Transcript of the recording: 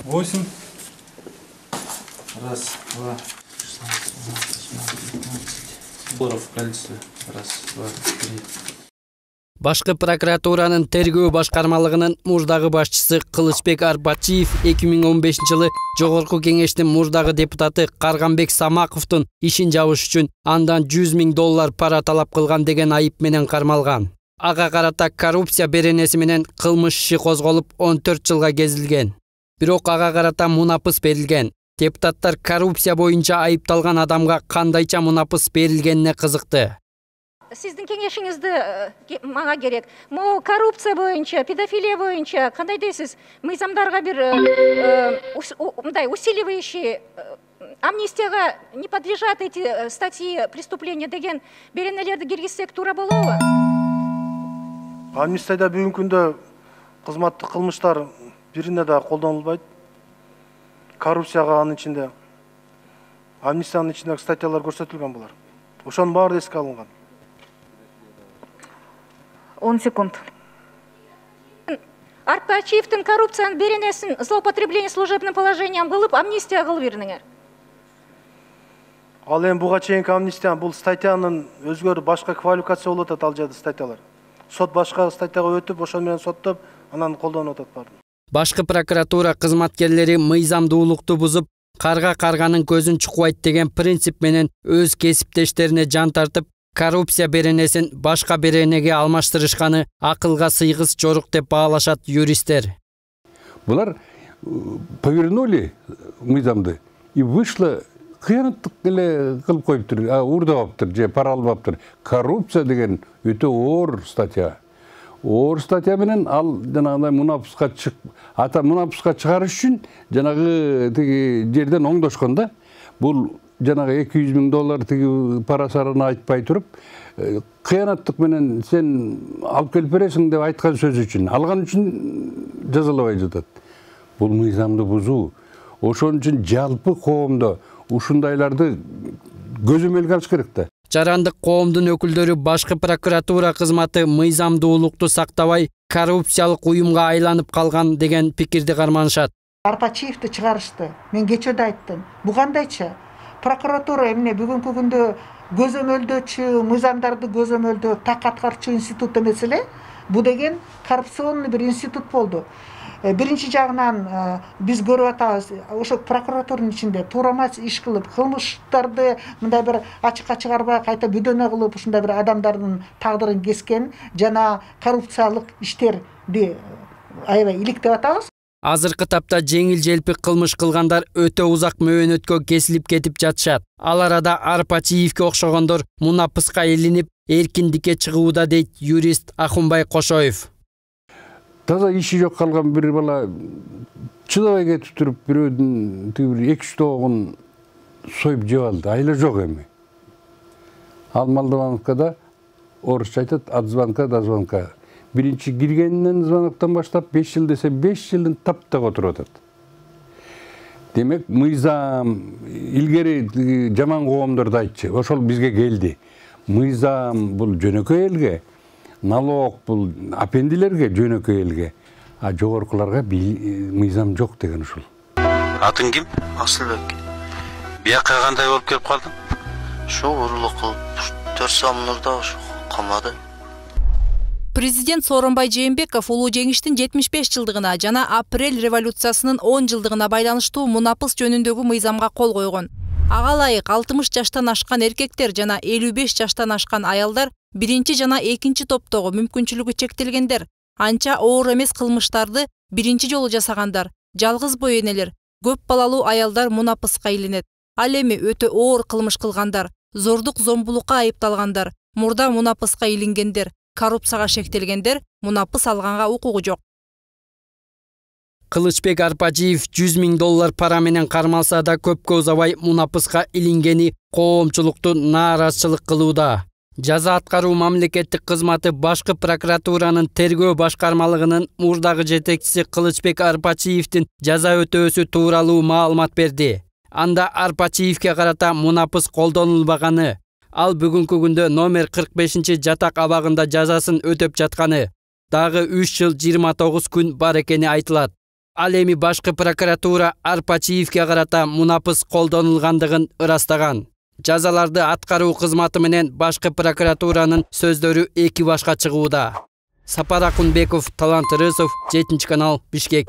8. Раз, два, 16, в количестве. Раз, два, три. Башкы прокуратуранын тергөө башкармалыгынын мурдагы башчысы Кылычбек Арбачиев 2015-жылы Жогорку Кеңештин мурдагы депутаты Карганбек Самаковдун ишин жабыш үчүн андан $100,000 пара талап кылган деген айып менен кармалган. Ага карата коррупция беренеси менен кылмыш иши козголуп 14 жылга кезилген. Бирок ага карата мунапыс берилген. Депутаттар коррупция боюнча айыпталган адамга кандайча мунапыс берилгенине кызыкты. Сиздин кеңешиңизди мага керек. Могу коррупция боюнча, педофилия боюнча кандай дейсиз? Мыйзамдарга бир мындай усиливающий амнистияга не подлежат эти статьи преступления деген беренелерди киргизсек туура болобу? Амнистияда бүгүнкү күндө кызматтык кылмыштар бирине да колдонулбайт. Коррупцияга анын ичинде амнистиянын ичиндеги статьялар көрсөтүлгөн булар. Ошонун баары эске алынган. 10 секунд. Арбачиевдин коррупциянын беренесин злоупотребление служебным положением кылып, амнистия кылып бериңер. Ал эми буга чейинки амнистия бул статьянын өзгөрүп башка квалификация болуп атат ал жерде статьялар. Сот башка статьяга өтүп, ошол менен соттоп, анан колдонуп атат баарын. Башкы прокуратура кызматкерлери мыйзамдуулукту бузуп, карга карганын көзүн чукпайт деген принцип менен өз кесиптештерине жан тартып, коррупция беренесин башка беренеге алмаштырышканы акылга сыйгыс жорук деп баалашат юристтер. Булар повернули мыйзамды и вышло кыянаттык эле кылып коюптур, уурдабаптыр же пара албаптыр. Коррупция деген өтө оор статья. Оор статья менен ал жанагындай мунапыска чыгарыш үчүн жанагы тиги жерден оңдошкон да. Бул жанагы $200,000 тиги пара сараны айтпай туруп, кыянаттык менен сен алып келип бересиң деп айткан сөз үчүн, алган үчүн жазалабай жатат. Бул мыйзамды бузуу. Ошон үчүн жалпы коомдо ушундайларды көзөмөлгө алыш керек да. Жарандык коомдун өкүлдөрү башкы прокуратура кызматы мыйзамдуулукту сактабай, коррупциялык уюмга айланып калган деген пикирди карманышат. Арбачиевди чыгарышты. Мен кечээ да айттым. Бу кандайча? Прокуратура эмне бүгүнкү күндө көзөмөлдөөчү, мыйзамдарды көзөмөлдөө так аткаруучу институт эмес эле. Бу деген коррупционный бир институт болду. Биринчи жагынан биз көрүп атабыз, ошо прокуратуранын ичинде туурамас иш кылып, кылмыштарды мындай бир ачыкка чыгарбай кайта бүдөнө кылып, ушундай бир адамдардын тагдырын кескен жана коррупциялык иштерди аябай иликтеп атабыз. Азыркы тапта жеңил-желпи кылмыш кылгандар өтө узак мөөнөткө кесилип кетип жатышат. Ал арада Арбачиевке окшогондор мунапыска илинип, эркиндикке чыгууда дейт юрист Ахунбай Кошоев. Таза иши жок калган бир бала чыдабай кетип туруп, бирөөдүн тиги 2-3 тоогун союп жеп алды. Айла жок эми. Ал Молдовановкада орусча айтат, от звонка до звонка. Биринчи киргенинен звоноктон баштап 5 жыл десе 5 жылдын таптак отуруп атат. Демек, мыйзам илгери жаман коомдорду айтчы. Ошол бизге келди. Мыйзам бул жөнөкөй элге, налог бул апендилерге жөнөкөй элге, а жогоркуларга мыйзам жок деген ушул. Атың ким? Асылбек. Бияка кандай болуп келип калдың? Ошо урлук кылып, 4 сомнурда ошо камады. Президент Сооронбай Жээнбеков улуу жеңиштин 75 жылдыгына жана апрель революциясынын 10 жылдыгына байланыштуу мунапыс жөнүндөгү мыйзамга кол койгон. Ага ылайык 60 жаштан ашкан эркектер жана 55 жаштан ашкан аялдар биринчи жана экинчи топтогу мүмкүнчүлүгү чектелгендер, анча оор эмес кылмыштарды биринчи жолу жасагандар, жалгыз бой энелер, көп балалуу аялдар мунапыска илинет. Ал эми өтө оор кылмыш кылгандар, зордук зомбулукка айыпталгандар, мурда мунапыска илингендер, коррупцияга шектелгендер мунапыс алганга укугу жок. Кылычбек Арбачиев $100,000 пара менен кармалса да көпкө узабай мунапыска илингени коомчулукту нааразычылык кылууда. Жаза аткаруу мамлекеттик кызматы башкы прокуратуранын тергөө башкармалыгынын мурдагы жетекчиси Кылычбек Арбачиевдин жаза өтөөсү тууралуу маалымат берди. Анда Арбачиевке карата мунапыс колдонулбаганы, ал бүгүнкү күндө номер 45 жатак абагында жазасын өтөп жатканы, дагы 3 жыл 29 күн бар экени айтылат. Ал эми башкы прокуратура Арпачиевке карата мунапыс колдонулгандыгын ырастаган. Жазаларды аткаруу кызматы менен башкы прокуратуранын сөздөрү эки башка чыгууда. Сапар Акунбеков, Талант Рысов, 7 канал, Бишкек.